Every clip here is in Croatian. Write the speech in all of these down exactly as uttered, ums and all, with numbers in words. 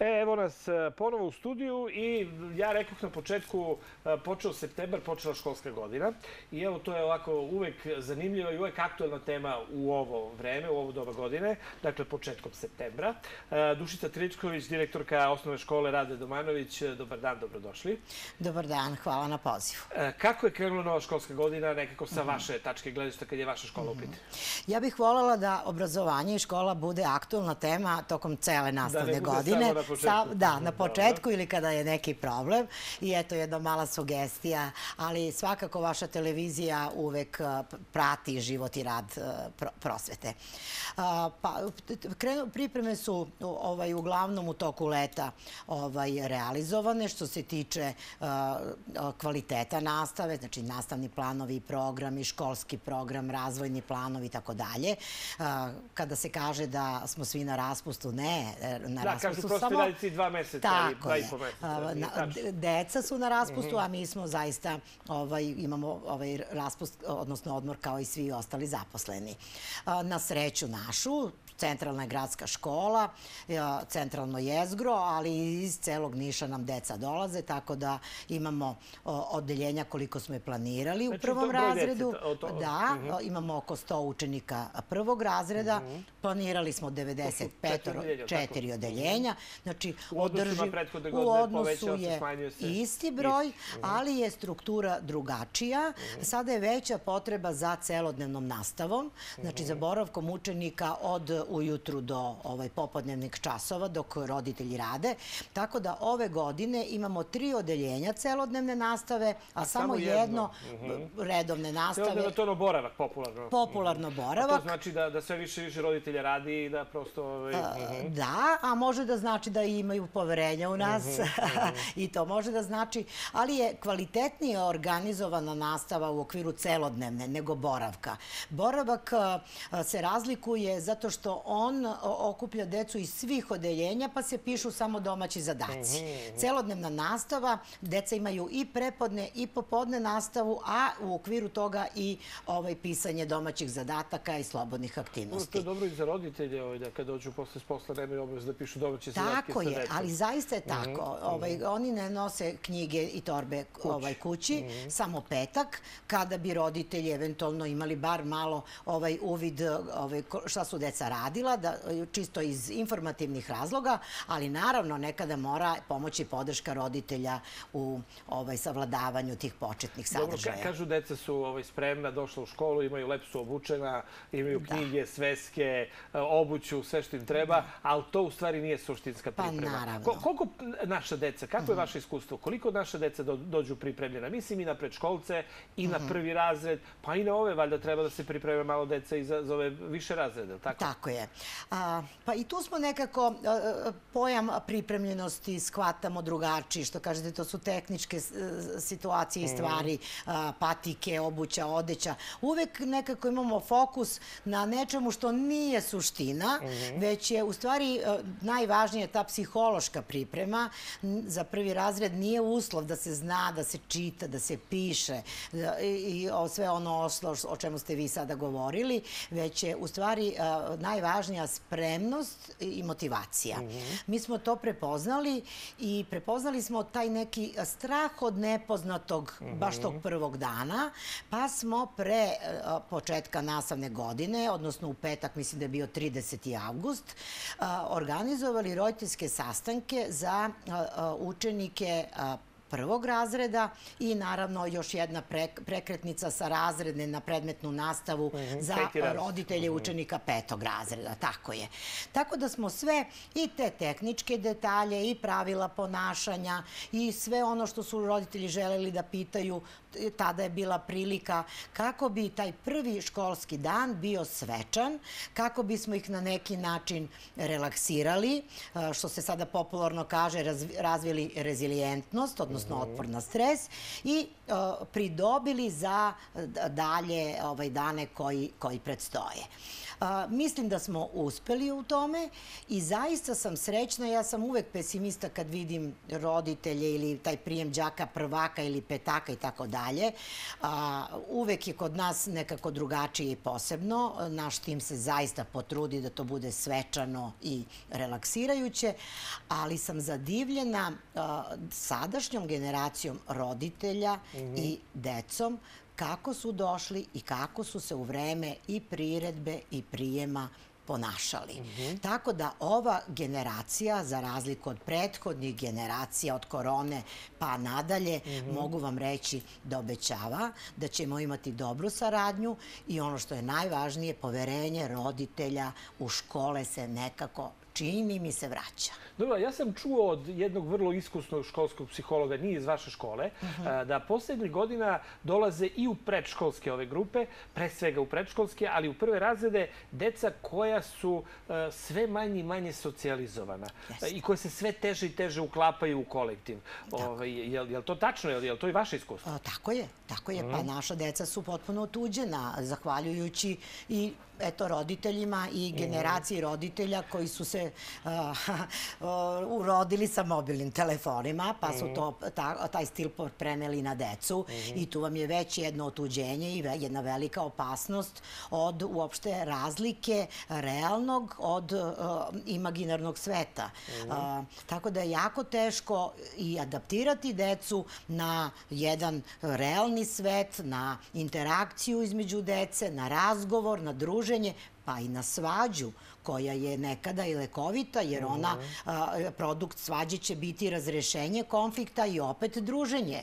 E, evo nas ponovo u studiju i ja rekoh na početku, počeo septembar, počela školska godina i evo to je ovako uvek zanimljiva i uvek aktuelna tema u ovo vreme, u ovo doba godine, dakle početkom septembra. Dušica Tričković, direktorka osnovne škole Rade Domanović, dobar dan, dobrodošli. Dobar dan, hvala na pozivu. Kako je krenula nova školska godina, nekako sa vaše tačke gledišta kad je vaša škola u pitanju? Ja bih voljela da obrazovanje i škola bude aktuelna tema tokom cele nastavne godine. Da, na početku ili kada je neki problem. I eto jedna mala sugestija, ali svakako vaša televizija uvek prati život i rad prosvete. Pripreme su uglavnom u toku leta realizovane što se tiče kvaliteta nastave, znači nastavni planovi i programi, školski program, razvojni planovi i tako dalje. Kada se kaže da smo svi na raspustu, ne, na raspustu samo... dva meseca ili dva i po meseca. Deca su na raspustu, a mi smo zaista, imamo raspust, odnosno odmor kao i svi ostali zaposleni. Na sreću našu, centralna je gradska škola, centralno jezgro, ali iz celog Niša nam deca dolaze, tako da imamo odeljenja koliko smo je planirali u prvom razredu. Da, imamo oko sto učenika prvog razreda, planirali smo devedeset četiri odeljenja, znači u odnosu je isti broj, ali je struktura drugačija. Sada je veća potreba za celodnevnom nastavom, znači za boravkom učenika od ujutru do popodnevnih časova dok roditelji rade. Tako da ove godine imamo tri odeljenja celodnevne nastave, a samo jedno redovne nastave. Celodnevno to je ono boravak, popularno. Popularno boravak. To znači da sve više i više roditelja radi i da prosto... Da, a može da znači da imaju poverenja u nas i to može da znači, ali je kvalitetnije organizovana nastava u okviru celodnevne nego boravka. Boravak se razlikuje zato što on okuplja decu iz svih odeljenja pa se pišu samo domaći zadaci. Celodnevna nastava, deca imaju i prepodne i popodne nastavu, a u okviru toga i pisanje domaćih zadataka i slobodnih aktivnosti. To je dobro i za roditelje da kada dođu posle s posla nemaju obavezu da pišu domaće zadatke sa decom. Tako je, ali zaista je tako. Oni ne nose knjige i torbe kući, samo petak, kada bi roditelji eventualno imali bar malo uvid šta su deca radila, čisto iz informativnih razloga, ali naravno nekada mora pomoći i podrška roditelja u savladavanju tih početnih sadržaja. Dobro, kažu deca su spremna, došla u školu, imaju lepo su obučena, imaju knjige, sveske, obuću, sve što im treba, ali to u stvari nije suštinska priprema. Pa naravno. Koliko naša deca, kako je vaše iskustvo, koliko naša deca dođu pripremljena? Mislim i na predškolce, i na prvi razred, pa i na ove, valjda treba da se pripreme malo deca i za ove više razrede, tako? Tako je. Pa i tu smo nekako pojam pripremljenosti shvatamo drugačiji, što kažete, to su tehničke situacije i stvari, patike, obuća, odeća. Uvek nekako imamo fokus na nečemu što nije suština, već je u stvari najvažnija ta psihološka priprema. Za prvi razred nije uslov da se zna, da se čita, da se piše i sve ono o čemu ste vi sada govorili, već je u stvari najvažnija spremnost i motivacija. Mi smo to prepoznali i prepoznali smo taj neki strah od nepoznatog baš tog prvog dana, pa smo pre početka nastavne godine, odnosno u petak, mislim da je bio trideseti avgust, organizovali roditeljske sastanke za učenike prvog razreda i naravno još jedna prekretnica sa razredne na predmetnu nastavu za roditelje učenika petog razreda. Tako je. Tako da smo sve i te tehničke detalje i pravila ponašanja i sve ono što su roditelji želeli da pitaju, tada je bila prilika kako bi taj prvi školski dan bio svečan, kako bismo ih na neki način relaksirali, što se sada popularno kaže, razvili rezilijentnost, odnosno otpor na stres i pridobili za dalje dane koji predstoje. Mislim da smo uspeli u tome i zaista sam srećna. Ja sam uvek pesimista kad vidim roditelje ili taj prijem đaka prvaka ili petaka i tako dalje. Uvek je kod nas nekako drugačije i posebno. Naš tim se zaista potrudi da to bude svečano i relaksirajuće, ali sam zadivljena sadašnjom generacijom roditelja i decom kako su došli i kako su se u vreme i priredbe i prijema ponašali. Tako da ova generacija, za razliku od prethodnih generacija, od korone pa nadalje, mogu vam reći da obećava da ćemo imati dobru saradnju i ono što je najvažnije, poverenje roditelja u škole se nekako, čini mi se, vraća. Dobro, ja sam čuo od jednog vrlo iskusnog školskog psihologa, nije iz vaše škole, da poslednjih godina dolaze i u predškolske ove grupe, pre svega u predškolske, ali u prve razrede deca koja su sve manje i manje socijalizovana i koje se sve teže i teže uklapaju u kolektiv. Je li to tačno? Je li to i vaše iskustvo? Tako je, tako je. Pa naša deca su potpuno otuđena, zahvaljujući i eto roditeljima i generaciji roditelja koji su se urodili sa mobilnim telefonima, pa su taj stil preneli na decu i tu vam je već jedno otuđenje i jedna velika opasnost od uopšte razlike realnog od imaginarnog sveta. Tako da je jako teško i adaptirati decu na jedan realni svet, na interakciju između dece, na razgovor, na druženje, pa i na svađu koja je nekada i lekovita, jer ona, produkt svađe će biti razrešenje konflikta i opet druženje.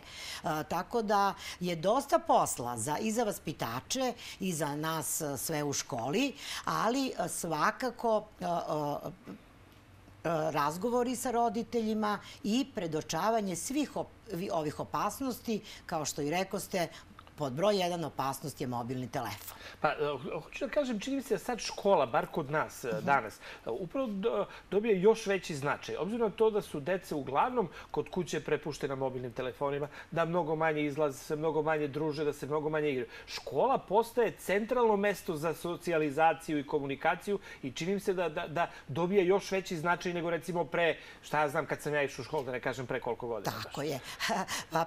Tako da je dosta posla i za vaspitače i za nas sve u školi, ali svakako razgovori sa roditeljima i predočavanje svih ovih opasnosti, kao što i rekoste, pod broj jedan opasnost je mobilni telefon. Pa, hoću da kažem, čini mi se da sad škola, bar kod nas danas, upravo dobija još veći značaj. Obzirom na to da su dece uglavnom kod kuće prepuštena mobilnim telefonima, da mnogo manje izlaze, se mnogo manje druže, da se mnogo manje igraju. Škola postaje centralno mesto za socijalizaciju i komunikaciju i čini mi se da dobija još veći značaj nego recimo pre, šta ja znam, kad sam ja išao u školu, da ne kažem pre koliko godina. Tako je.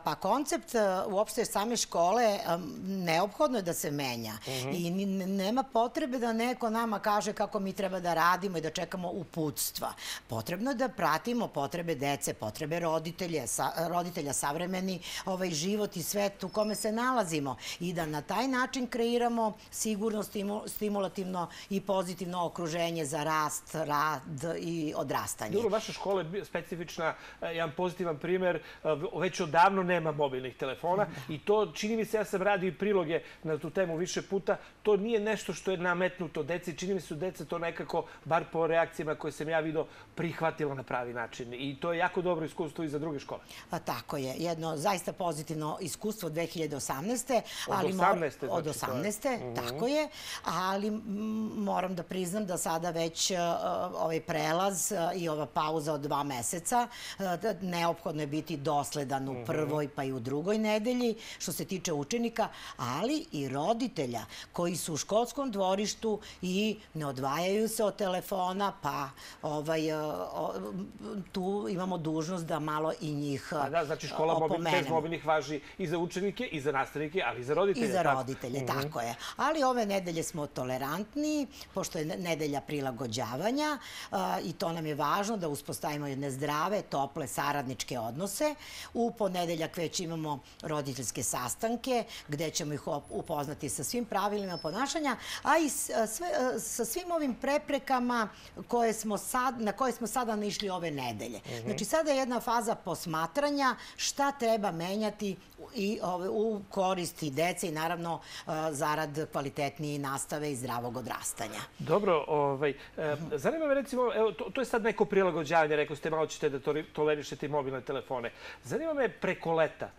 Pa koncept uopšte same škole neophodno je da se menja i nema potrebe da neko nama kaže kako mi treba da radimo i da čekamo uputstva. Potrebno je da pratimo potrebe dece, potrebe roditelja, savremeni život i svet u kome se nalazimo i da na taj način kreiramo sigurno, stimulativno i pozitivno okruženje za rast, rad i odrastanje. Dobro, vaša škola je specifična, jedan pozitivan primer, već odavno nema mobilnih telefona i to, čini mi se, ja sam radio i priloge na tu temu više puta, to nije nešto što je nametnuto deci. Čini mi se da deca to nekako, bar po reakcijama koje sam ja vidio, prihvatila na pravi način. I to je jako dobro iskustvo i za druge škole. Tako je. Jedno zaista pozitivno iskustvo dve hiljade osamnaeste. Od osamnaeste. Od osamnaeste, tako je. Ali moram da priznam da sada već ovaj prelaz i ova pauza od dva meseca, neophodno je biti dosledan u prvoj pa i u drugoj nedelji, što se tiče učenika, ali i roditelja koji su u školskom dvorištu i ne odvajaju se od telefona, pa tu imamo dužnost da malo i njih opomenemo. Da, znači škola bez mobilnih važi i za učenike, i za nastavnike, ali i za roditelje. I za roditelje, tako je. Ali ove nedelje smo tolerantni, pošto je nedelja prilagođavanja i to nam je važno da uspostavimo jedne zdrave, tople, saradničke odnose. U ponedeljak već imamo roditeljske sastanke, gde ćemo ih upoznati sa svim pravilima ponašanja, a i sa svim ovim preprekama na koje smo sada naišli ove nedelje. Znači, sada je jedna faza posmatranja šta treba menjati u koristi dece i naravno zarad kvalitetnije nastave i zdravog odrastanja. Dobro, zanima me recimo, to je sad neko prilagođavanje, rekao ste malo ćete da tolerišete i mobilne telefone. Zanima me preko leta.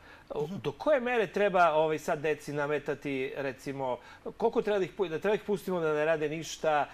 Do koje mere treba ovaj, sad deci nametati, recimo, koliko treba da ih, da treba ih pustimo da ne rade ništa?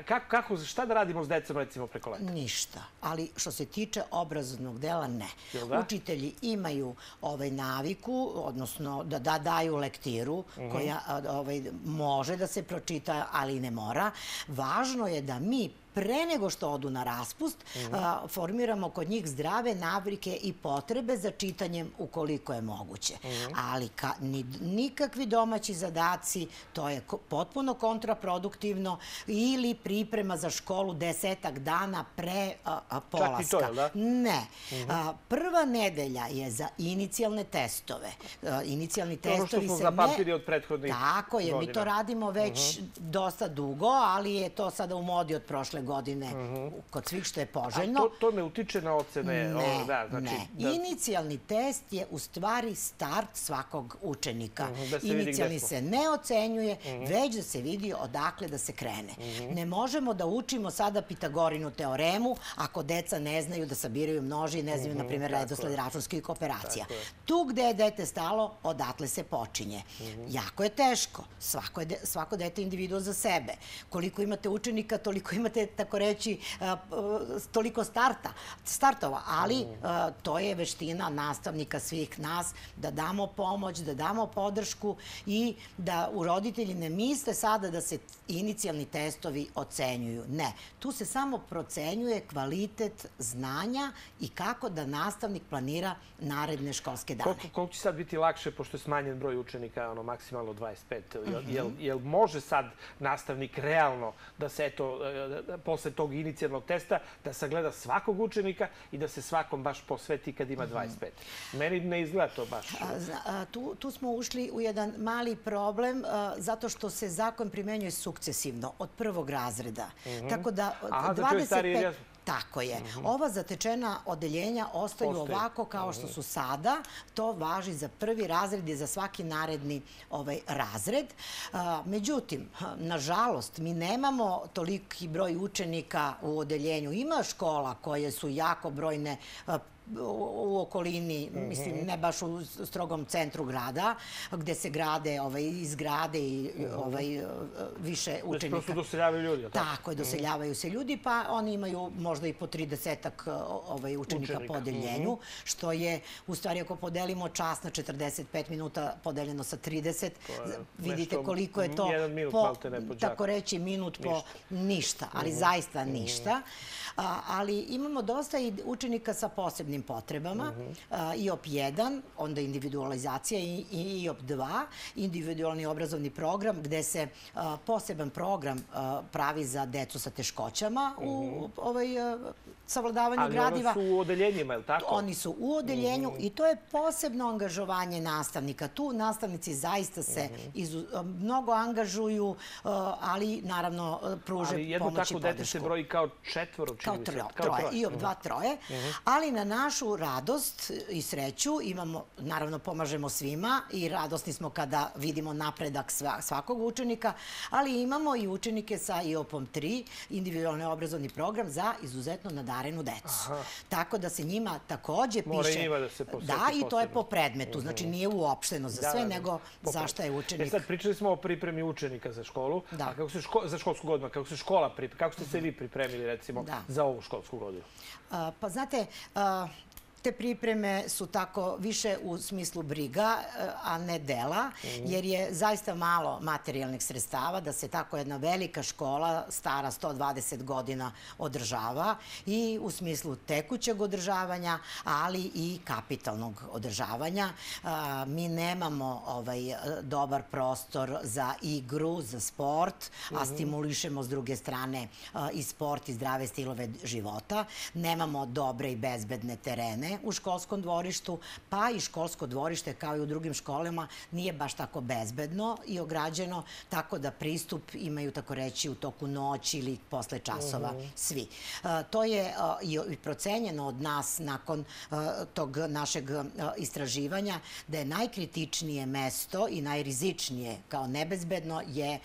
Kako, kako, šta da radimo s decom, recimo, preko leta? Ništa. Ali što se tiče obrazovnog dela, ne. Da? Učitelji imaju ovaj naviku, odnosno da, da daju lektiru koja ovaj, može da se pročita, ali ne mora. Važno je da mi pre nego što odu na raspust, a, formiramo kod njih zdrave navike i potrebe za čitanjem ukoliko je moguće. Ali ka, ni, nikakvi domaći zadaci, to je ko, potpuno kontraproduktivno, ili priprema za školu desetak dana pre a, a, polaska. Čak i to, je, da? Ne. A, prva nedelja je za inicijalne testove. A, inicijalni testovi se ne... Ono što smo zapamtili od prethodnih Tako je, godina. mi to radimo već uh -huh. dosta dugo, ali je to sada u modi od prošle godine uh -huh. kod svih što je poželjno. A to, to ne utiče na ocene? Ne, o, da, znači, ne. Da... Inicijalni test je u stvari start svakog učenika. Uh -huh, da se Inicijalni vidi se ne ocenjuje, uh -huh. već da se vidi odakle da se krene. Uh -huh. Ne možemo da učimo sada Pitagorinu teoremu ako deca ne znaju da sabiraju množi i ne znaju, uh -huh, na primjer, redosled računskih operacija. Tu gde je dete stalo, odatle se počinje. Uh -huh. Jako je teško. Svako, je de, svako dete je individuo za sebe. Koliko imate učenika, toliko imate, tako reći, toliko starta, startova, ali to je veština nastavnika svih nas da damo pomoć, da damo podršku i da u roditelji ne misle sada da se inicijalni testovi ocenjuju. Ne, tu se samo procenjuje kvalitet znanja i kako da nastavnik planira naredne školske dane. Koliko, koliko će sad biti lakše, pošto je smanjen broj učenika, ono, maksimalno dvadeset pet? Jel, jel, jel može sad nastavnik realno da se, eto, posle tog inicijalnog testa, da sagleda svakog učenika i da se svakom baš posveti kad ima dvadeset pet? Meni ne izgleda to baš. A, tu, tu smo ušli u jedan mali problem, a, zato što se zakon primenjuje sukcesivno, od prvog razreda. Uh-huh. Tako da... Aha, da čovjek stariji je jasno. Tako je. Uh-huh. Ova zatečena odeljenja ostaju Ostaje. ovako kao što su sada. To važi za prvi razred i za svaki naredni ovaj, razred. A, međutim, nažalost, mi nemamo toliki broj učenika u odeljenju. Ima škola koje su jako brojne a, u okolini, mislim, ne baš u strogom centru grada, gde se grade ovaj, izgrade i ovaj, više učenika. Znači, prosto doseljavaju ljudi, tako? Tako je, doseljavaju se ljudi, pa oni imaju možda i po tridesetak ovaj, učenika, učenika po odeljenju, što je, u stvari, ako podelimo čas na četrdeset pet minuta podeljeno sa trideset, vidite koliko je to, jedan minut, po, malte ne po džaku. tako reći, minut po ništa, ništa ali uh -huh. zaista ništa. A, ali imamo dosta i učenika sa posebnim potrebama, uh -huh. I O P jedan, onda individualizacija i, i I O P dva, individualni obrazovni program, gde se a, poseban program a, pravi za decu sa teškoćama uh -huh. u ovaj, a, savladavanju ali gradiva. Ali oni su u odeljenjima, je li tako? Oni su u odeljenju uh -huh. i to je posebno angažovanje nastavnika. Tu nastavnici zaista se uh -huh. izu, mnogo angažuju, ali naravno pruže pomoć i podršku. Ali jedno tako dete se broji kao četvoro, Kao troje, troje. I O P dva troje. Ali na našu radost i sreću imamo, naravno pomažemo svima i radosni smo kada vidimo napredak svakog učenika, ali imamo i učenike sa I O P-om tri, individualni obrazovni program za izuzetno nadarenu decu. Tako da se njima takođe piše... Mora i njima da se posveti. Da, i to je po predmetu. Znači nije uopšteno za sve, nego za šta je učenik. E sad, pričali smo o pripremi učenika za školu, a kako se za školsku godinu, kako se škola pripremi, kako ste se vi pripremili, recimo, za ovu školsku godinu? Pa znate, te pripreme su tako više u smislu briga, a ne dela, jer je zaista malo materijalnih sredstava da se tako jedna velika škola, stara sto dvadeset godina, održava i u smislu tekućeg održavanja, ali i kapitalnog održavanja. Mi nemamo ovaj, dobar prostor za igru, za sport, a stimulišemo s druge strane i sport i zdrave stilove života. Nemamo dobre i bezbedne terene u školskom dvorištu, pa i školsko dvorište, kao i u drugim školama, nije baš tako bezbedno i ograđeno, tako da pristup imaju, tako reći, u toku noći ili posle časova svi. To je i procenjeno od nas nakon tog našeg istraživanja, da je najkritičnije mesto i najrizičnije kao nebezbedno je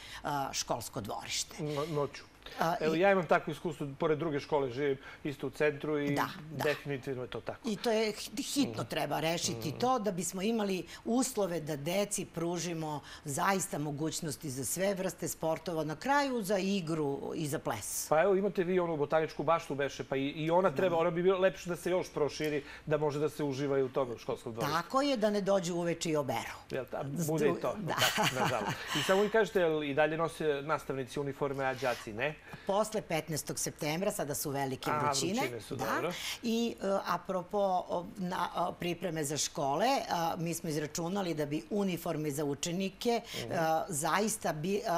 školsko dvorište. Noću. Evo, ja imam takvo iskustvo, pored druge škole živim isto u centru i definitivno je to tako. I to je hitno treba rešiti to da bismo imali uslove da deci pružimo zaista mogućnosti za sve vrste sportova, na kraju za igru i za ples. Pa evo, imate vi onu botaničku baštu beše, pa i ona treba, ona bi bilo lepše da se još proširi, da može da se uživa i u tome u školskom dvorištu. Tako je, da ne dođe uveče i oberu. Bude i to, nažalost. I samo mi kažete, i dalje nose nastavnici uniforme, a đaci ne? Posle petnaestog septembra, sada su velike vrućine. A, vrućine su, dobro. I apropo pripreme za škole, mi smo izračunali da bi uniforme za učenike zaista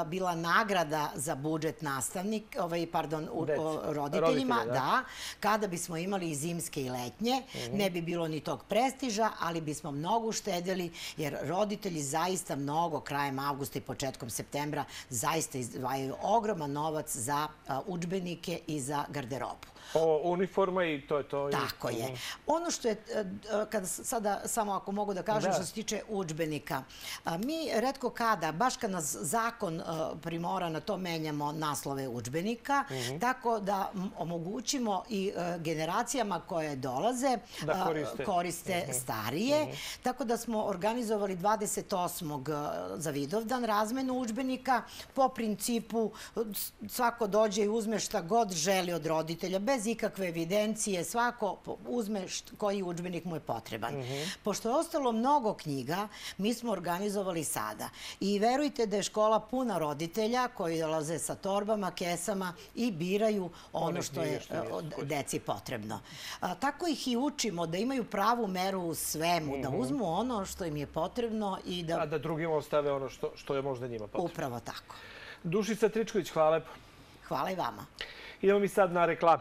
bila nagrada za budžet nastavnik, pardon, roditeljima, da, kada bismo imali i zimske i letnje, ne bi bilo ni tog prestiža, ali bismo mnogo uštedeli, jer roditelji zaista mnogo krajem avgusta i početkom septembra zaista izdvajaju ogroman novac za udžbenike i za garderobu. Ovo uniforma i to je to. Tako je. Ono što je, kada sada samo ako mogu da kažem što se tiče udžbenika, mi retko kada, baš kad nas zakon primora na to, menjamo naslove udžbenika, tako da omogućimo i generacijama koje dolaze koriste starije. Tako da smo organizovali dvadeset osmog za Vidovdan razmenu udžbenika po principu svako dođe i uzme šta god želi od roditelja, bez ikakve evidencije, svako uzme koji udžbenik mu je potreban. Pošto je ostalo mnogo knjiga, mi smo organizovali sada. I verujte da je škola puna roditelja koji dolaze sa torbama, kesama i biraju ono što je deci potrebno. Tako ih i učimo da imaju pravu meru u svemu, da uzmu ono što im je potrebno i da... A da drugim ostave ono što je možda njima potrebno. Upravo tako. Dušica Tričković, hvala lepo. Hvala i vama. Idemo mi sad na reklame.